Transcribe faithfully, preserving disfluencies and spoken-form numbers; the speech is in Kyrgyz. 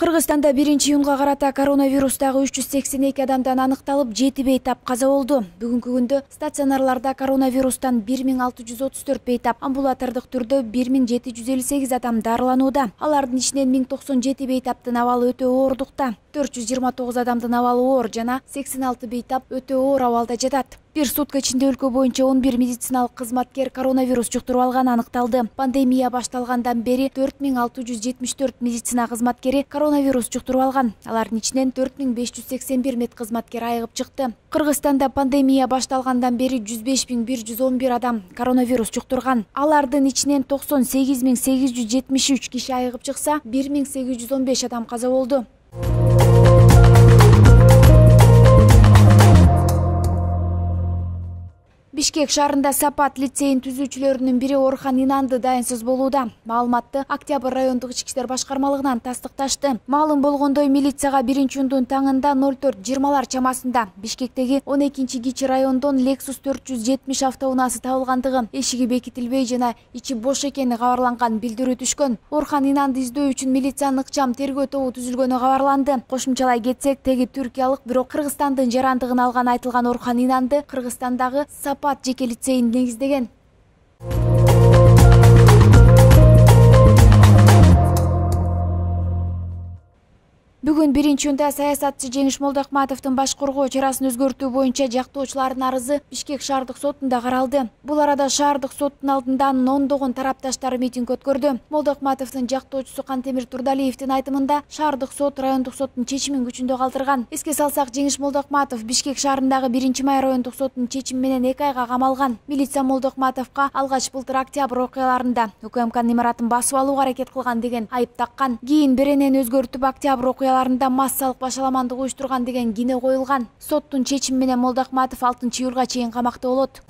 Кыргызстанда биринчи июнга карата коронавирустагы үч жүз сексен эки адамдан аныкталып, жети бейтап каза болду. Бүгүнкү күндө стационарларда коронавирустан бир миң алты жүз отуз төрт бейтап, амбулатордук түрдө бир миң жети жүз элүү сегиз адам дарыланууда. Алардын ичинен миң токсон жети бейтаптын абалы өтө оордукта, төрт жүз жыйырма тогуз адамдын абалы оор жана сексен алты бейтап өтө оор абалда жатат. Бир сутка ичинде өлкө боюнча он бир медициналык кызматкер коронавирус жуктуруп алганы аныкталды. Пандемия башталгандан бери төрт миң алты жүз жетимиш төрт медицина кызматкери коронавирус жуктуруп алган. Алардын ичинен төрт миң беш жүз сексен бир мед кызматкер айыгып чыкты. Кыргызстанда пандемия башталгандан бери жүз беш миң бир жүз он бир адам коронавирус жуктурган. Алардын ичинен токсон сегиз миң сегиз жүз жетимиш үч киши айыгып чыкса, бир миң сегиз жүз он беш адам каза болду. Бишкек шаарында Сапат лицейин түзүүчүлөрүнүн бири Орхан Инанды дайынсыз болууда. Маалыматты Октябрь райондук ички иштер башкармалыгынан тастыкташты. Маалым болгондой, милицияга биринчи июндун таңында ноль төрт жыйырмалар чамасында Бишкектеги он экинчи кичи райондон Lexus төрт жүз жетимиш автоунаасы табылгандыгы, эшиги бекитилбей жана ичи бош экени кабарланган билдирүү түшкөн. Орхан Инанды издөө үчүн милициянын ыкчам тергөө тобу түзүлгөнү кабарланды. Кошумчалай кетсек, теги түркиялык, бирок Кыргызстандын жарандыгын алган айтылган Орхан Инанды Кыргызстандагы Сапат жеке лицейин негиздеген. Бүгүн биринчи июнда саясатчы Жеңиш Молдокматовдун баш коргоо чарасын өзгөртүү боюнча жактоочулардын арызы Бишкек шаардык сотунда каралды. Бул арада шаардык соттун алдында анын ондогон тарапташтары митинг өткөрдү. Молдокматовдун жактоочусу Кантемир Турдалиевдин айтымында, шаардык сот райондук соттун чечимин күчүндө калтырган. Эске салсак, Жеңиш Молдокматов Бишкек шаарындагы биринчи май райондук соттун чечими менен эки айга камалган. Милиция Молдокматовго алгач былтыр октябрь окуяларында УКМКнын имаратын басып алууга аракет кылган деген айып таккан. Кийин беренени өзгөртүп октябрь окуяларында массалык башаламандык уюштурган деген кине коюлган. Соттун чечими менен Молдокматов алтынчы июлга чейин камакта болот.